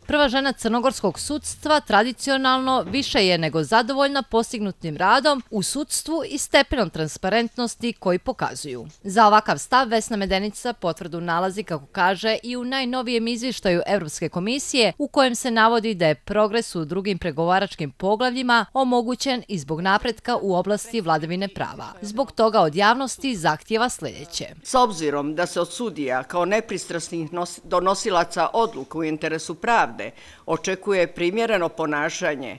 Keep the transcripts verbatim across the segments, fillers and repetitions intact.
Prva žena crnogorskog sudstva tradicionalno više je nego zadovoljna postignutim radom u sudstvu i stepenom transparentnosti koji pokazuju. Za ovakav stav Vesna Medenica potvrdu nalazi, kako kaže, i u najnovijem izvještaju Evropske komisije u kojem se navodi da je progres u drugim pregovaračkim poglavljima omogućen i zbog napretka u oblasti vladavine prava. Zbog toga od javnosti zahtijeva sljedeće. S obzirom da se od sudija kao nepristrasnih donosilaca odluka u interesu pravde očekuje primjereno ponašanje,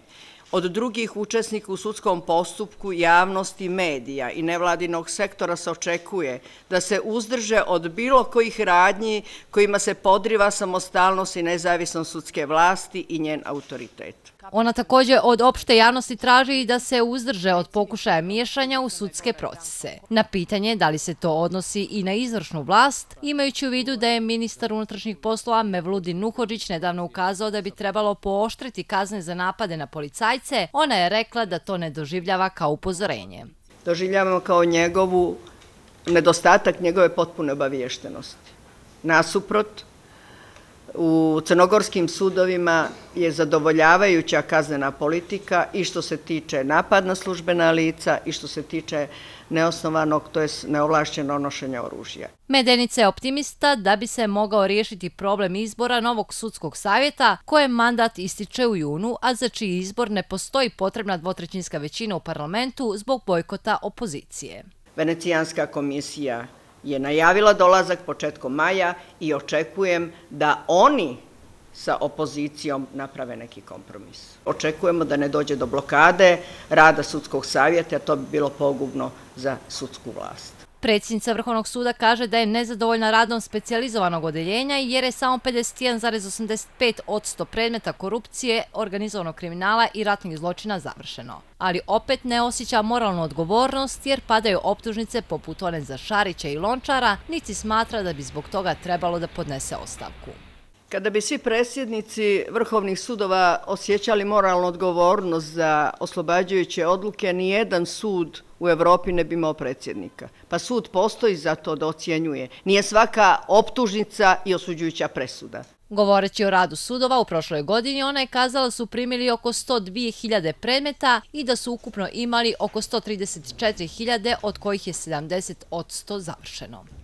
od drugih učesnika u sudskom postupku, javnosti, medija i nevladinog sektora se očekuje da se uzdrže od bilo kojih radnji kojima se podriva samostalnost i nezavisnost sudske vlasti i njen autoritet. Ona također od opšte javnosti traži da se uzdrže od pokušaja miješanja u sudske procese. Na pitanje da li se to odnosi i na izvršnu vlast, imajući u vidu da je ministar unutrašnjih poslova Mevludin Nuhodžić nedavno ukazao da bi trebalo pooštriti kazne za napade na policajce, ona je rekla da to ne doživljava kao upozorenje. Doživljavamo kao njegovu nedostatak njegove potpune obaviještenosti. Nasuprot, u crnogorskim sudovima je zadovoljavajuća kaznena politika i što se tiče napad na službena lica i što se tiče neosnovanog, to je neovlašćenog nošenja oružja. Medenica je optimista da bi se mogao riješiti problem izbora novog sudskog savjeta kojem mandat ističe u junu, a za čiji izbor ne postoji potrebna dvotrećinska većina u parlamentu zbog bojkota opozicije. Venecijanska komisija je najavila dolazak početkom maja i očekujem da oni sa opozicijom naprave neki kompromis. Očekujemo da ne dođe do blokade rada sudskog savjeta, a to bi bilo pogubno za sudsku vlast. Predsjednica Vrhovnog suda kaže da je nezadovoljna radom specijalizovanog odeljenja jer je samo pedeset jedan zarez osamdeset pet posto predmeta korupcije, organizovanog kriminala i ratnih zločina završeno. Ali opet ne osjeća moralnu odgovornost jer padaju optužnice poput one za Šarića i Lončara, niti smatra da bi zbog toga trebalo da podnese ostavku. Kada bi svi predsjednici vrhovnih sudova osjećali moralnu odgovornost za oslobađajuće odluke, nijedan sud u Evropi ne bi imao predsjednika. Pa sud postoji za to da ocjenjuje. Nije svaka optužnica i osuđujuća presuda. Govoreći o radu sudova u prošloj godini, ona je kazala da su primili oko sto dvije hiljade predmeta i da su ukupno imali oko sto trideset četiri hiljade, od kojih je sedamdeset posto završeno.